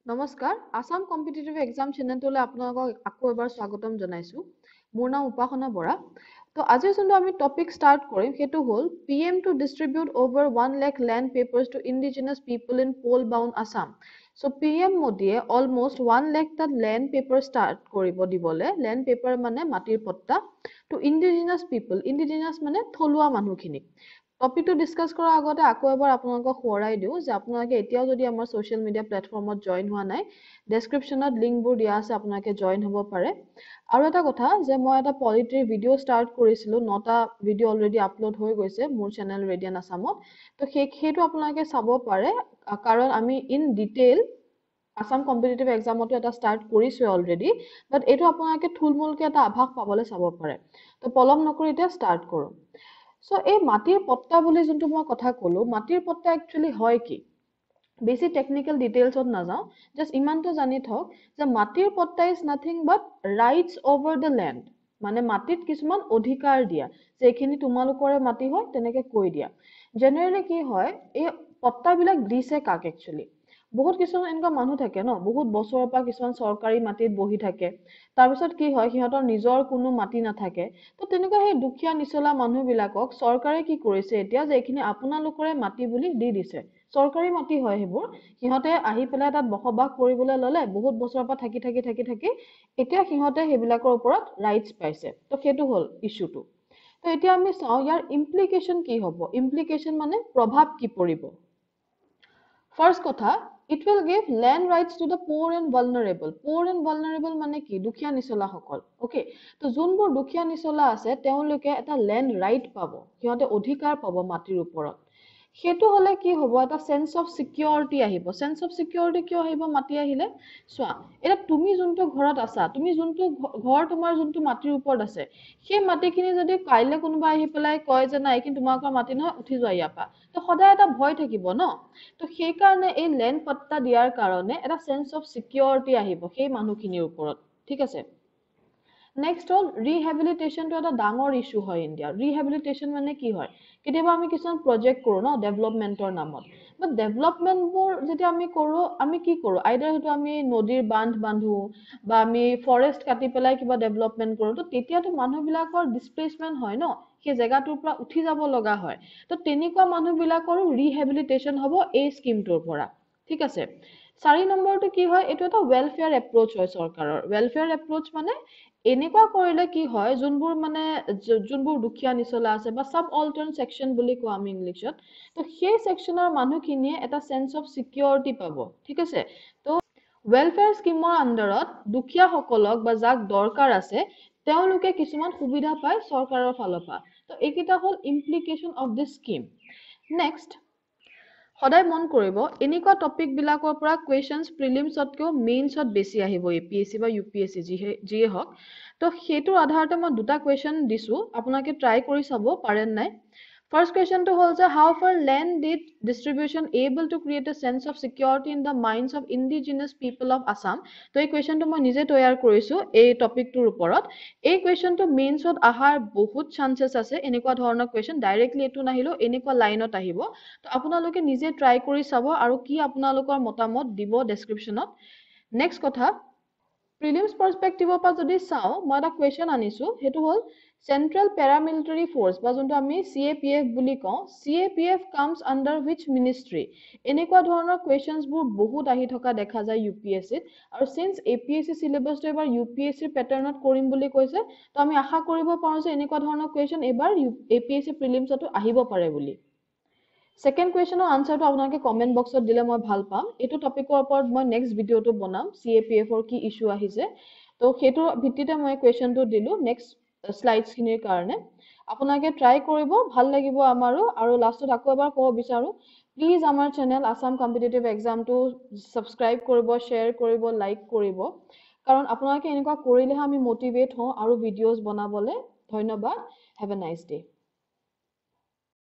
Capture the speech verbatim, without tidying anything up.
নমস্কাৰ Assam competitive exam চেনেলটোলৈ আপোনালোকক আকৌ এবাৰ স্বাগতম জনাইছোঁ মোৰ নাম উপাসনা বৰা তো আজিৰ যোনটো আমি টপিক ষ্টাৰ্ট কৰিম সেইটো হ'ল PM to distribute over one lakh land papers to indigenous people in poll bound Assam so P M মোদীয়ে অলমষ্ট ওৱান লেখ তাত লেণ্ড পেপাৰ ষ্টাৰ্ট কৰিব দিবলৈ লেণ্ড পেপাৰ মানে মাটিৰ পট্টা টু ইণ্ডিজিনাছ পিপল ইণ্ডিজিনাছ মানে থলুৱা মানুহখিনিক টপিকটো ডিছকাছ কৰাৰ আগতে আকৌ এবাৰ আপোনালোকক সোঁৱৰাই দিওঁ যে আপোনালোকে এতিয়াও যদি আমাৰ ছ'চিয়েল মিডিয়া প্লেটফৰ্মত জইন হোৱা নাই ডেছক্ৰিপশ্যনত লিংকবোৰ দিয়া আছে আপোনালোকে জইন হ'ব পাৰে আৰু এটা কথা যে মই এটা পলিটিৰ ভিডিঅ' ষ্টাৰ্ট কৰিছিলোঁ নটা ভিডিঅ' অলৰেডি আপলোড হৈ গৈছে মোৰ চেনেল ৰেডিয়ান আছামত তো সেই সেইটো আপোনালোকে চাব পাৰে কাৰণ আমি ইন ডিটেইল আছাম কম্পিটিটিভ এক্সামতো এটা ষ্টাৰ্ট কৰিছোৱে অলৰেডি বাট এইটো আপোনালোকে থুলমূলকৈ এটা আভাস পাবলৈ চাব পাৰে তো পলম নকৰি এতিয়া ষ্টাৰ্ট কৰোঁ চ' এই মাটিৰ পট্টা বুলি যোনটো মই কথা ক'লো মাটিৰ পট্টা একচুৱেলি হয় কি বেছি টেকনিকেল ডিটেইলছত নাযাওঁ জাষ্ট ইমানটো জানি থওক যে মাটিৰ পট্টা is nothing but rights over the land মানে মাটিত কিছুমান অধিকাৰ দিয়া যে এইখিনি তোমালোকৰে মাটি হয় তেনেকে কৈ দিয়া জেনেৰেলি কি হয় এই পট্টাবিলাক দিছে কাক একচুৱেলি বহুত কিছুমান এনেকুৱা মানুহ থাকে ন বহুত বছৰৰ পৰা কিছুমান চৰকাৰী মাটিত বহি থাকে তাৰপিছত কি হয় সিহঁতৰ নিজৰ কোনো মাটি নাথাকে তো তেনেকুৱা সেই দুখীয়া নিচলা মানুহবিলাকক চৰকাৰে কি কৰিছে এতিয়া যে এইখিনি আপোনালোকৰে মাটি বুলি দি দিছে চৰকাৰী মাটি হয় সেইবোৰ সিহঁতে আহি পেলাই তাত বসবাস কৰিবলৈ ল'লে বহুত বছৰৰ পৰা থাকি থাকি থাকি থাকি এতিয়া সিহঁতে সেইবিলাকৰ ওপৰত ৰাইটছ পাইছে তো সেইটো হ'ল ইছ্যুটো তো এতিয়া আমি চাওঁ ইয়াৰ ইমপ্লিকেশ্যন কি হ'ব ইমপ্লিকেশ্যন মানে প্ৰভাৱ কি পৰিব ফাৰ্ষ্ট কথা it will give land rights to the poor and vulnerable poor and vulnerable মানে কি দুখীয়া নিচলাসকল অ'কে তো যোনবোৰ দুখীয়া নিচলা আছে তেওঁলোকে এটা লেণ্ড ৰাইট পাব সিহঁতে অধিকাৰ পাব মাটিৰ ওপৰত সেইটো হ'লে কি হ'ব এটা চেন্স অফ চিকিউৰিটি আহিব চেন্স অফ চিকিউৰিটি কিয় আহিব মাটি আহিলে চোৱা এতিয়া তুমি যোনটো ঘৰত আছা তুমি যোনটো ঘৰ তোমাৰ যোনটো মাটিৰ ওপৰত আছে সেই মাটিখিনি যদি কাইলৈ কোনোবা আহি পেলাই কয় যে নাই এইখিনি তোমালোকৰ মাটি নহয় উঠি যোৱা ইয়াৰ পৰা তো সদায় এটা ভয় থাকিব ন তো সেইকাৰণে এই লেণ্ড পট্টা দিয়াৰ কাৰণে এটা চেন্স অফ চিকিউৰিটি আহিব সেই মানুহখিনিৰ ওপৰত ঠিক আছে নেক্সট হ'ল ৰিহেবিলিটেশ্যনটো এটা ডাঙৰ ইছ্যু হয় ইণ্ডিয়াৰ ৰিহেবিলিটেশ্যন মানে কি হয় কেতিয়াবা আমি কিছুমান প্ৰজেক্ট কৰোঁ ন ডেভেলপমেণ্টৰ নামত বাট ডেভেলপমেণ্টবোৰ যেতিয়া আমি কৰোঁ আমি কি কৰোঁ আইদাৰ সেইটো আমি নদীৰ বান্ধ বান্ধো বা আমি ফৰেষ্ট কাটি পেলাই কিবা ডেভেলপমেণ্ট কৰোঁ তো তেতিয়াতো মানুহবিলাকৰ ডিছপ্লেচমেণ্ট হয় ন সেই জেগাটোৰ পৰা উঠি যাব লগা হয় তো তেনেকুৱা মানুহবিলাকৰো ৰিহেবিলিটেশ্যন হ'ব এই স্কিমটোৰ পৰা ঠিক আছে চাৰি নম্বৰটো কি হয় এইটো এটা ৱেলফেয়াৰ এপ্ৰ'চ হয় চৰকাৰৰ ৱেলফেয়াৰ এপ্ৰ'চ মানে এনেকুৱা কৰিলে কি হয় যোনবোৰ মানে যোনবোৰ দুখীয়া নিচলা আছে বা চাব অল্টাৰ্ণ ছেকশ্যন বুলি কওঁ আমি ইংলিছত তো সেই ছেকশ্যনৰ মানুহখিনিয়ে এটা চেন্স অফ চিকিউৰিটি পাব ঠিক আছে তো ৱেলফেয়াৰ স্কিমৰ আণ্ডাৰত দুখীয়াসকলক বা যাক দৰকাৰ আছে তেওঁলোকে কিছুমান সুবিধা পায় চৰকাৰৰ ফালৰ পৰা তো এইকেইটা হ'ল implication of this scheme next সদায় মন কৰিব এনেকুৱা টপিকবিলাকৰ পৰা কুৱেশ্যনছ প্ৰিলিমছতকৈও মেইনছত বেছি আহিব এ পি এছ চি বা ইউ পি এছ চি যিহে যিয়ে হওক তো সেইটোৰ আধাৰতে মই দুটা কুৱেশ্যন দিছোঁ আপোনালোকে ট্ৰাই কৰি চাব পাৰে নাই ফাৰ্ষ্ট কুৱেশ্যনটো হ'ল যে how far land deed distribution able to create a sense of security in the minds of indigenous people of Assam তো এই কুৱেশ্যনটো মই নিজে তৈয়াৰ কৰিছোঁ এই টপিকটোৰ ওপৰত এই কুৱেশ্যনটো মেইনছত অহাৰ বহুত চান্সেছ আছে এনেকুৱা ধৰণৰ কুৱেশ্যন ডাইৰেক্টলি এইটো নাহিলেও এনেকুৱা লাইনত আহিব তো আপোনালোকে নিজে ট্ৰাই কৰি চাব আৰু কি আপোনালোকৰ মতামত দিব ডেছক্ৰিপশ্যনত নেক্সট কথা প্ৰিলিমছ পাৰ্চপেক্টিভৰ পৰা যদি চাওঁ মই এটা কুৱেশ্যন আনিছোঁ সেইটো হ'ল চেণ্ট্ৰেল পেৰামিলিটাৰী ফ'ৰ্চ বা যোনটো আমি চি এ পি এফ বুলি কওঁ CAPF comes under which ministry এনেকুৱা ধৰণৰ কুৱেশ্যনছবোৰ বহুত আহি থকা দেখা যায় ইউ পি এছ চিত আৰু চিন্স এ পি এছ চি চিলেবাছটো এইবাৰ ইউ পি এছ চিৰ পেটাৰ্ণত কৰিম বুলি কৈছে তো আমি আশা কৰিব পাৰোঁ যে এনেকুৱা ধৰণৰ কুৱেশ্যন এইবাৰ এ পি এছ চি প্ৰিলিমছতো আহিব পাৰে বুলি ছেকেণ্ড কুৱেশ্যনৰ আনচাৰটো আপোনালোকে কমেণ্ট বক্সত দিলে মই ভাল পাম এইটো টপিকৰ ওপৰত মই নেক্সট ভিডিঅ'টো বনাম চি এ পি এফৰ কি ইছ্যু আহিছে তো সেইটোৰ ভিত্তিতে মই কুৱেশ্যনটো দিলোঁ নেক্সট শ্লাইডছখিনিৰ কাৰণে আপোনালোকে ট্ৰাই কৰিব ভাল লাগিব আমাৰো আৰু লাষ্টত আকৌ এবাৰ ক'ব বিচাৰোঁ প্লিজ আমাৰ চেনেল আছাম কম্পিটিটিভ এক্সামটো ছাবস্ক্ৰাইব কৰিব শ্বেয়াৰ কৰিব লাইক কৰিব কাৰণ আপোনালোকে এনেকুৱা কৰিলেহে আমি মটিভেট হওঁ আৰু ভিডিঅ'জ বনাবলৈ ধন্যবাদ have a nice day